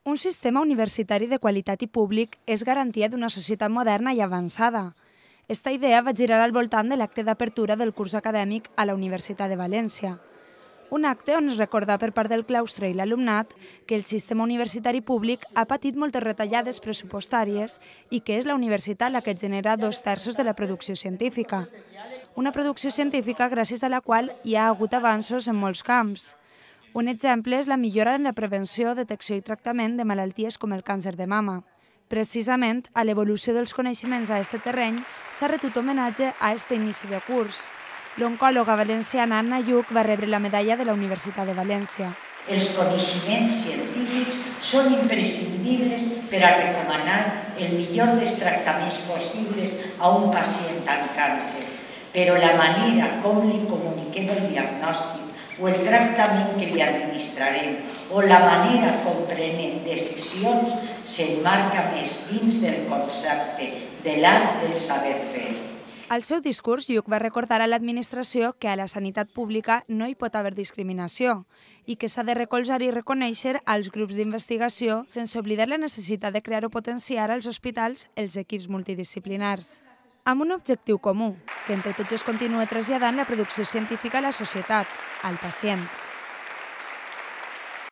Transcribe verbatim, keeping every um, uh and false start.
Un sistema universitari de qualitat i públic és garantia d'una societat moderna i avançada. Esta idea va girar al voltant de l'acte d'apertura del curs acadèmic a la Universitat de València. Un acte on es recorda per part del claustre i l'alumnat que el sistema universitari públic ha patit moltes retallades pressupostàries i que és la universitat la que genera dos terços de la producció científica. Una producció científica gràcies a la qual hi ha hagut avanços en molts camps. Un exemple és la millora en la prevenció, detecció i tractament de malalties com el càncer de mama. Precisament, a l'evolució dels coneixements a aquest terreny s'ha retut homenatge a aquest inici de curs. L'oncòloga valenciana Anna Lluch va rebre la medalla de la Universitat de València. Els coneixements científics són imprescindibles per a recomanar el millor dels tractaments possibles a un pacient amb càncer, però la manera com li comuniquem el diagnòstic o el tractament que li administrarem o la manera com prenem decisions s'emmarca més dins del concepte de l'art del saber fer. Al seu discurs, Lluch va recordar a l'administració que a la sanitat pública no hi pot haver discriminació i que s'ha de recolzar i reconèixer als grups d'investigació sense oblidar la necessitat de crear o potenciar als hospitals els equips multidisciplinars. Amb un objectiu comú, que entre tots es continua traslladant la producció científica a la societat, al pacient.